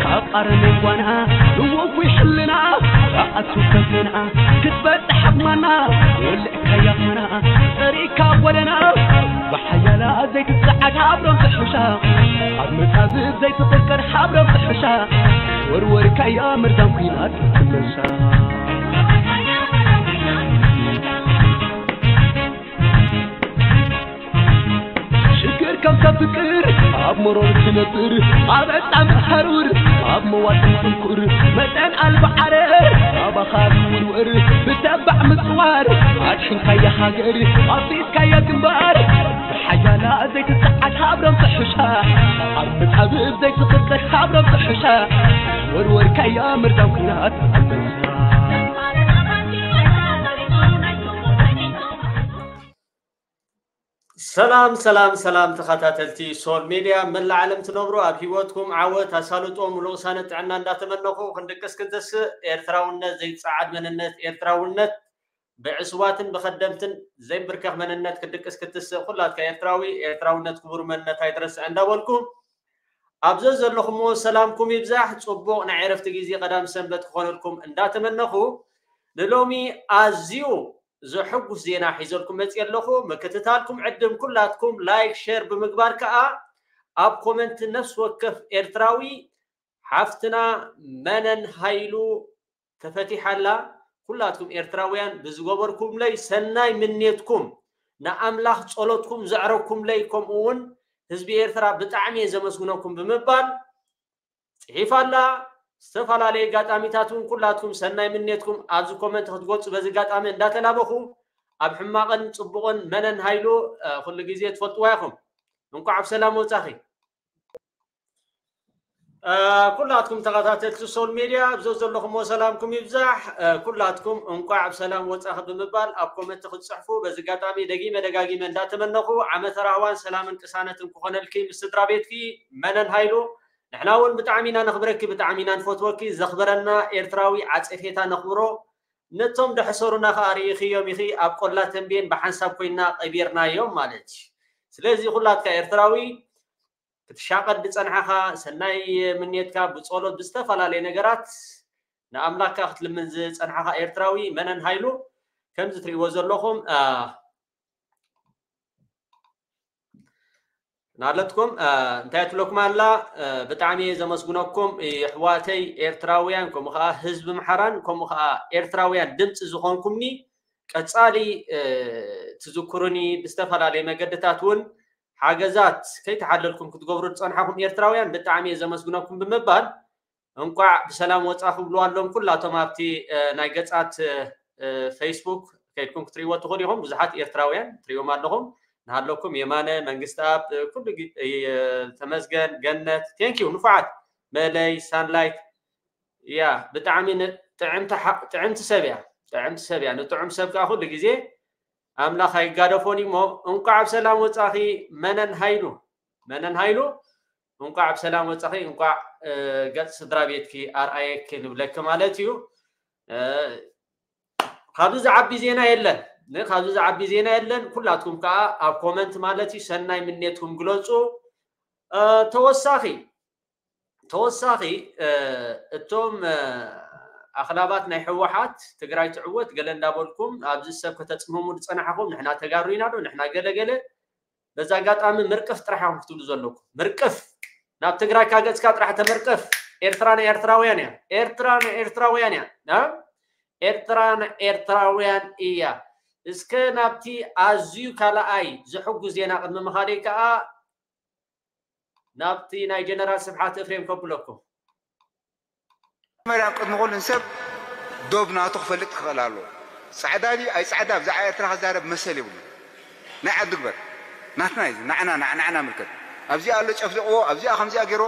ካብ ኣረሜን ጓና ንወጉ ሕልና ኣኣቱ ከፍና ክትበጽሕ ኣቕማና ወልዕካያ ኾና ጸሪካ ጎደና ብሓያላ ዘይትጸዓድ ሓብሮም ትሕሻ ኣብ መጻብብ ዘይትቕርቀር ሓብሮም ትሕሻ ወርወርካያ መርዛም ኲናት ትመሻ ሽግር ከም ሰብ ፍቅር ኣብ መሮር ትነብር ኣብ ዕጣን ሓሩር ኣብ መዋጥን ጥንኩር መጠን ኣልባ ዓረር ኣብ ኣኻል ውርወር ብተባዕ ምጽዋር ኣድሒንካያ ሃገር ኣፍሪስካያ ግንባር ብሓያላ ዘይትጸዓድ ሃብሮም ትሕሻ ኣብ መጻብብ ዘይትቕርቀር ሃብሮም ትሕሻ ወርወርካያ መርዛም ኲናት ኣንበሳ ሰላም ሰላም ሰላም ተኸታተልቲ ሶል ሜድያ መላእ ዓለም ትነብሩ ኣብ ህይወትኩም ዓወት ኣሳልጦ ሙሉእ ቅሳነት ጥዕና እንዳተመነኹ ክንድቅስ ክንተስእ ኤርትራውነት ዘይጸዓድ መንነት ኤርትራውነት ብዕሱባትን ብኸደምትን ዘይንብርከኽ መንነት ክንድቅስ ክትስእ ኩላትካ ኤርትራዊ ኤርትራውነት ክቡር መንነት ኣይትረስዕ እንዳበልኩ ኣብ ዘዘለኹምዎ ሰላምኩም ይብዛሕ ጽቡቕ ናይ ዕረፍቲ ግዜ ቀዳም ሰንበት ክኾነልኩም እንዳተመነኹ ንሎሚ ኣዝዩ ዘሐጉስ ዜና ሒዘልኩም መፅየ ኣለኹ። ምክትታልኩም ዕድም ኩላትኩም ላይክ ሸር ብምግባር ከዓ ኣብ ኮመንት ነፍሲ ወከፍ ኤርትራዊ ሓፍትና መነን ሃይሉ ተፈቲሓላ። ኩላትኩም ኤርትራውያን ብዝገበርኩምለይ ሰናይ ምኔትኩም ንኣምላኽ ጸሎትኩም ዘዕረግኩምለይ ከምኡ እውን ህዝቢ ኤርትራ ብጣዕሚ እየ ዘመስግነኩም ብምባል ፅሒፋ ኣላ። ዝተፈላለዩ ኣጋጣሚታት እውን ኩላትኩም ሰናይ ምኔትኩም ኣብዚ ኮመንት ክትገልፁ በዚ ኣጋጣሚ እንዳተላበኹ ኣብ ሕማቕን ፅቡቕን መነን ሃይሉ ኩሉ ግዜ ትፈልጥዋ ኢኹም። እንኳዕ ብሰላም ወፃኺ። ኩላትኩም ተኸታተልቲ ሶል ሜድያ ኣብ ዘለኹምዎ ሰላምኩም ይብዛሕ። ኩላትኩም እንኳዕ ብሰላም ወፃኺ ብምባል ኣብ ኮመንት ክትፅሕፉ በዚ ኣጋጣሚ ደጊመ ደጋጊመ እንዳተመነኹ ዓመተ ራህዋን ሰላምን ቅሳነትን ክኾነልኪ ምስ ስድራ ቤትኪ መነን ሃይሉ ንሕና እውን ብጣዕሚ ኢና ነኽብረኪ፣ ብጣዕሚ ኢና ንፈትወኪ። ዘኽበረና ኤርትራዊ ዓጸፌታ ነኽብሮ። ነቶም ደሕሰሩና ከኣ ርኢኽዮም ኢኺ፣ ኣብ ቆላ ተንቤን ብሓንሳብ ኮይንና ቀቢርናዮም ማለት እዩ። ስለዚ ኩላትካ ኤርትራዊ ክትሻቐል ዝጸንሓኻ፣ ሰናይ ምንየትካ ብጸሎት ብዝተፈላለየ ነገራት ንኣምላኽካ ክትልምን ዝጸንሓኻ ኤርትራዊ መነን ሃይሉ ከምዚ ትርእይዎ ዘለኹም ናለትኩም እንታይ ትብለኩም ኣላ ብጣዕሚ እየ ዘመስግነኩም ይሕዋተይ ኤርትራውያን ከምኡ ከዓ ህዝቢ ምሓራን ከምኡ ከዓ ኤርትራውያን ድምፂ ዝኾንኩምኒ ቀፃሊ ትዝክሩኒ ብዝተፈላለየ መገድታት እውን ሓገዛት ከይተሓለልኩም ክትገብሩ ዝፀንሓኩም ኤርትራውያን ብጣዕሚ እየ ዘመስግነኩም ብምባል እንቋዕ ብሰላም ወፃ ክብሉ ኣለዎም ኩላቶም ኣብቲ ናይ ገፃት ፌስቡክ ከይድኩም ክትሪእዎ ትኽእሉ ኢኹም ብዙሓት ኤርትራውያን ትሪእዎም ኣለኹም ንሃለኩም የማነ መንግስቲ ኣብ ኩሉ ተመስገን ገነት ቴንኪው ንፉዓት መለይ ሳንላይት ያ ብጣዕሚ ጥዕምቲ ሰብ እያ ጥዕምቲ ሰብ እያ ንጥዑም ሰብ ከዓ ኩሉ ግዜ ኣምላኽ ኣይጋደፎን እሞ እንቋዕ ብሰላም ወፃኺ መነን ሃይሉ መነን ሃይሉ እንቋዕ ብሰላም ወፃኺ እንቋዕ ገፅ ስድራ ቤትኪ ኣርኣየኪ ንብለኪ ማለት እዩ ካብዚ ዝዓቢ ዜና የለን ካብዚ ዝዓቢ ዜና የለን ኩላትኩም ከዓ ኣብ ኮመንት ማለት እዩ ሰናይ ምኔትኩም ግለፁ ተወሳኺ ተወሳኺ እቶም ኣኽላባት ናይ ህወሓት ትግራይ ትዕወት ገለ እንዳበልኩም ኣብዚ ሰብ ከተፅምሙ ዝፀናሕኹም ንሕና ተጋሩ ኢና ዶ ንሕና ገለ ገለ በዚ ኣጋጣሚ ምርቅፍ ጥራሕ ኢኹም ክትብሉ ዘለኩም ምርቅፍ ናብ ትግራይ ካገፅካ ጥራሕ ተምርቅፍ ኤርትራ ናይ ኤርትራውያን እያ ኤርትራ ናይ ኤርትራውያን እያ ኤርትራ ናይ ኤርትራውያን እያ እስከ ናብቲ ኣዝዩ ካልኣይ ዘሕጉስ ዜና ቅድሚ ምኻደይ ከዓ ናብቲ ናይ ጀነራል ስብሓት እፍሬም ከብለኩም መጀመርያ ቅድሚ ኩሉን ሰብ ዶብ ናቱ ክፈልጥ ክኽእል ኣለዎ። ፃዕዳ ድዩ ኣይፃዕዳ ብዛዕባ ኤርትራ ክዛረብ መሰል የብሉን። ናይ ዓዱ ግበር። ናትና እዩ ናዕና ናዕና ምልከት። ኣብዚኣ ኣሎ ጨፍሊቕዎ ኣብዚኣ ከምዚኣ ገይሮ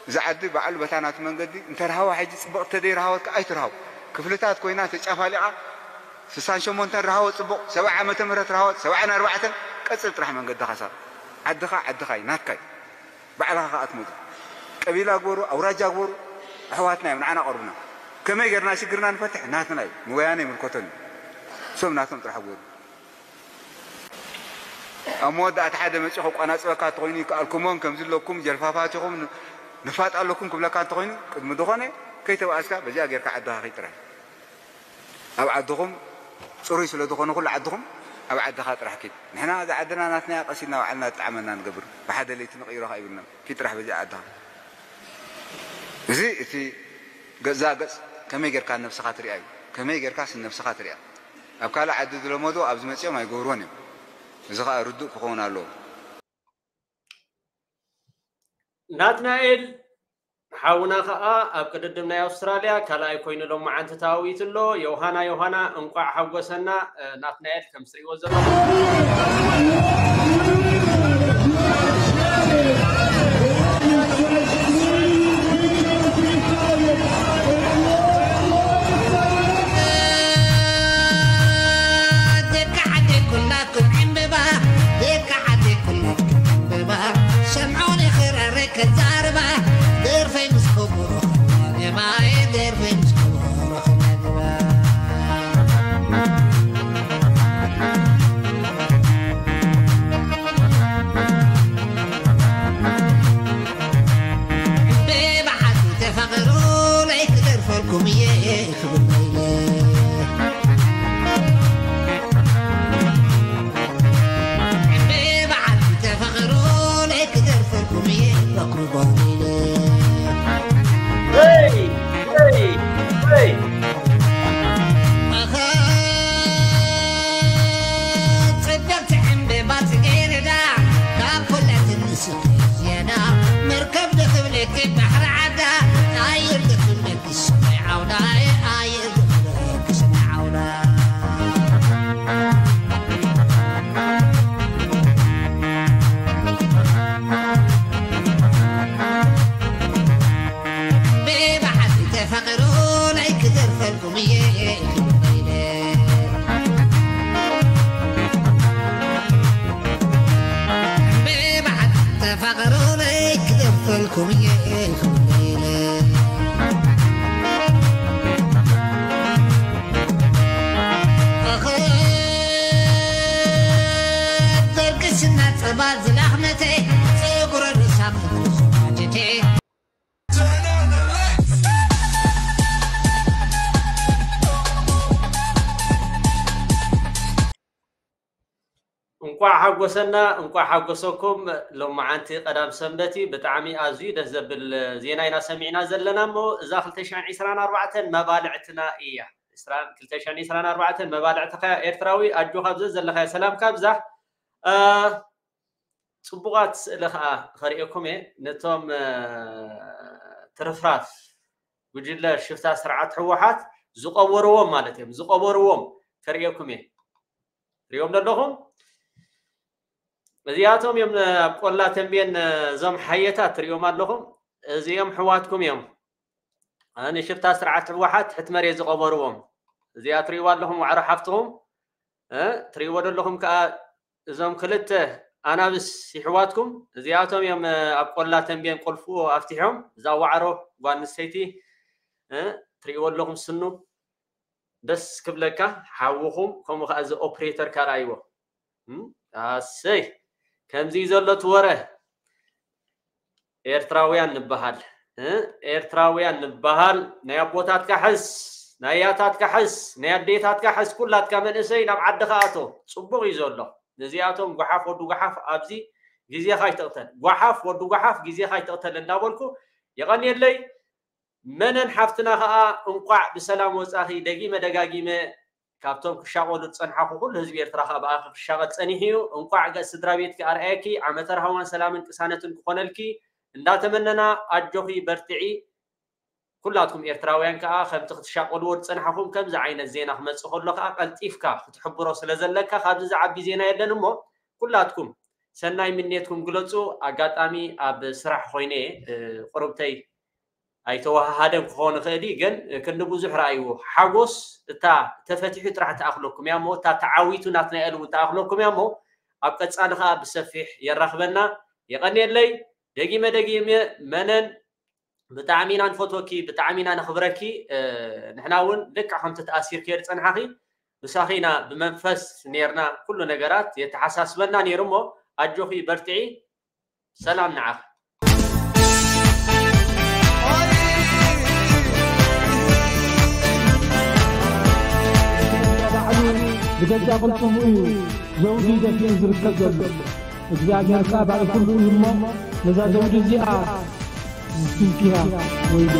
እዚ ዓዲ ባዕሉ በታ ናቱ መንገዲ እንተርሃዋ ሕጂ ፅብቕ እንተደይረሃወት ከዓ ኣይትርሃው ክፍልታት ኮይና ተጫፋሊቓ ስሳን ሸሞንተን ረሃወ ፅቡቕ ሰብዓ ዓመተ ምህረት ረሃወ ሰብዓን ኣርባዕተን ቀፅል ጥራሕ መንገድኻ ሳብ ዓድኻ ዓድኻ እዩ ናትካ እዩ ባዕልኻ ከዓ ትመፁ ቀቢላ ግበሩ ኣውራጃ ግበሩ ኣሕዋትና እዮም ንዓና ቀርቡና ከመይ ገርና ሽግርና ንፈትሕ ናትና እዩ ንወያነ ይምልከቶም እዩ እሶም ናቶም ጥራሕ ግበሩ ኣብ መወዳእታ ሓደ መፂኡ ከቋናፅበካ ተኮይኑ ይከኣልኩሞን ከምዚ ኣለኩም ጀልፋፋት ኢኹም ንፋጥ ኣለኩም ክብለካ እንተኾይኑ ቅድሚ ዝኾነ ከይተባእስካ በዚኣ ጌርካ ዓድኻ ኪድ ጥራሕ። ኣብ ዓድኹም ጽሩይ ስለ ዝኾነ ኩሉ ዓድኹም ኣብ ዓድኻ ጥራሕ ኪድ። ንሕና እዛ ዓድና ናትና እያ ቀሲልና ባዕልና ዝጠዓመና ንገብር። ብሓደ ለይቲ ንቕይሮ ከኣ ይብልና። ኪድ ጥራሕ በዚኣ ዓድኻ። እዚ እቲ ገዛ ገጽ ከመይ ጌርካ ነብስኻ ትሪኣ እዩ። ከመይ ጌርካ ስም ነብስኻ ትሪኣ። ኣብ ካልእ ዓዲ ዝለመዶ ኣብዚ መጺኦም ኣይገብርዎን እዮም። እዚ ከኣ ርዱእ ክኸውን ኣለዎ። ናትናኤል ሓውና ከኣ ኣብ ቅድድም ናይ ኣውስትራልያ ካልኣይ ኮይኑ ሎማዓንቲ ተዋዊቱ ኣሎ። ዮሃና ዮሃና እንቋዕ ሓጎሰና። እ፣ ናትናኤል ከም ትሪእዎ ዘለኹም ደቂ ዓደይ ኩላኩም ዕምበባ፣ ደቂ ዓደይ ኩላኩም ዕምበባ፣ ሰምዑኒ ክራረይ ከዛርባ፣ ደርፈይ ምስ ከበሮ ከናግባ፣ ደርፈይ ምስ ከበሮ ከናግባ። ብብሓቂ ተፋቐሩ ለይክደርፈልኩም እየ ክብል ኢለ። ብብሓቂ ተፋቐሩ ለይክደርፈልኩም እየ ክብል ኢለ። Hey! Hey! Hey! ኣኸ ጽብቕቲ ዕምበባ ጽጌረዳ፣ ካብ ኩለን ትንስኺ ዝያዳ፣ መርከብ ዶ ክብለኪ ባሕሪ ዓዳ፣ ኣየር ዶ ክብለኪ ሰማይ ዓውዳ፣ ኣየር ዶ ክብለኪ ሰማይ ዓውዳ። ብብሓቂ ተፋቐሩ ለይክደርፈልኩም እየ ክብል ኢለ። ብብሓቂ ተፋቐሩ ለይክደርፈልኩም እየ ክብል ኢለ። ኣኸ ደርቂ ስና ጸባ ዝላኽነተይ፣ ጸጉረ ርእሳ ክትብሉ ሰባጀቴ። እንቋዕ ሓጎሰና፣ እንቋዕ ሓጎሰኩም። ሎማዓንቲ ቀዳም ሰንበት እዩ። ብጣዕሚ ኣዝዩ ደስ ዘብል ዜና ኢና ሰሚዕና ዘለና እሞ፣ እዛ ክልተ ሽሕን ዕስራን ኣርባዕተን መባልዕትና እያ። ዕስራን፣ ክልተ ሽሕን ዕስራን ኣርባዕተን መባልዕትኻ ኤርትራዊ፣ ኣጆኻ ኣብ ዘዘለኻዮ ሰላምካ ኣብዛሕ። እ፣ ጽቡቓት ስእሊ ኸኣ ኸርእየኩም እየ። ነቶም፣ እ፣ ትርፍራፍ ጉጅለ ሽፍታ ስርዓት ህወሓት ዝቐበርዎም ማለት እዮም። ዝቐበርዎም ከርእየኩም እየ። ትሪእዎም ዶ ኣለኹም? እዚኣቶም እዮም፣ እ፣ ኣብ ቆላ ተንቤን፣ እ፣ እዞም ሓየታት ትሪእዎም ኣለኹም። እዚኦም ኣሕዋትኩም እዮም። እ፣ ንሽፍታ ስርዓት ህወሓት ትሕቲ መሬት ዝቐበርዎም። እዚኣ ትሪእዋ ኣለኹም ዋዕሮ ሓፍትኹም። እ፣ ትሪእዎ ዶ ኣለኹም ከኣ እዞም ክልተ ኣናብስ ይሕዋትኩም፣ እዚኣቶም እዮም፣ እ፣ ኣብ ቆላ ተንቤን ቁልፉ ኣፍቲሖም። እዛ ዋዕሮ ጓል ኣንስተይቲ፣ እ፣ ትሪእዎ ኣለኹም ስኑ ደስ ክብለካ ሓውኹም፣ ከምኡ ከኣ እዚ ኦፕሬተር ካልኣይዎ። እም፣ ኣሰይ፣ ከምዚ እዩ ዘሎ እቲ ወረ። ኤርትራውያን ንበሃል፣ እ፣ ኤርትራውያን ንበሃል። ናይ ኣቦታትካ ሕዝ፣ ናይ ኣያታትካ ሕዝ፣ ናይ ኣዴታትካ ሕዝ፣ ኩላትካ መንእሰይ ናብ ዓድኻ ኣቶ። ጽቡቕ እዩ ዘሎ። ነዚኣቶም ጓሓፍ ወዲ ጓሓፍ ኣብዚ ግዜኻ ኣይትቕተል። ጓሓፍ ወዲ ጓሓፍ ግዜኻ ኣይትቕተል እንዳበልኩ የቐንየለይ። መነን ሓፍትና ኸኣ እንቋዕ ብሰላም ወጻኺ። ደጊመ ደጋጊመ ካብቶም ክሻቐሉ ዝጸንሓኹ ኩሉ ህዝቢ ኤርትራ ኸኣ ብኣኺ ክሻቐል ጸኒሑ እዩ። እንቋዕ ገጽ ስድራ ቤትኪ ኣርኣየኪ፣ ዓመተ ርሃዋን ሰላምን ቅሳነትን ክኾነልኪ እንዳተመነና፣ ኣጆኺ በርትዒ። ኩላትኩም ኤርትራውያን ከኣ ከምቲ ክትሻቐልዎ ዝጸንሓኹም ከምዚ ዓይነት ዜና ክመጽእ ከሎ ከኣ ቀልጢፍካ ክትሕብሮ ስለ ዘለካ፣ ካብዚ ዝዓቢ ዜና የለን እሞ ኩላትኩም ሰናይ ምንየትኩም ግለጹ። ኣጋጣሚ ኣብ ስራሕ ኮይነ እየ፣ እ፣ ቁርብተይ ኣይተወሃሃደን ክኸውን ይኽእል እዩ፣ ግን ክንዲ ብዙሕ ረኣይዎ። ሓጎስ እታ ተፈቲሑ ጥራሕ ትኣኽለኩም እያ እሞ፣ እታ ተዓዊቱ ናትና እያ እውን ትኣኽለኩም እያ እሞ፣ ኣብ ቀጻሊ ኸኣ ብሰፊሕ የራኽበና። የቐንየለይ። ደጊመ ደጊመ መነን ብጣዕሚ ኢና ንፈትወኪ፣ ብጣዕሚ ኢና ነኽብረኪ። እ፣ ንሕና እውን ልክዕ ከምቲ ተኣሲርክዮ ዝጸንሓኺ፣ ምሳኺ ኢና ብመንፈስ ኔርና፣ ኩሉ ነገራት የተሓሳስበና ኔሩ እሞ፣ ኣጆኺ በርትዒ። ሰላም ንዓኺ። ብገዛእ ቅልጽሙ እዩ ዘውዲ ደፊኡ ዝርከብ ዘሎ። እግዚኣብሔር ከኣ ባዕሉ ኩሉ እዩ እሞ፣ ነዛ ዘውዲ እዚኣ ዝትንክያ ወይሉ።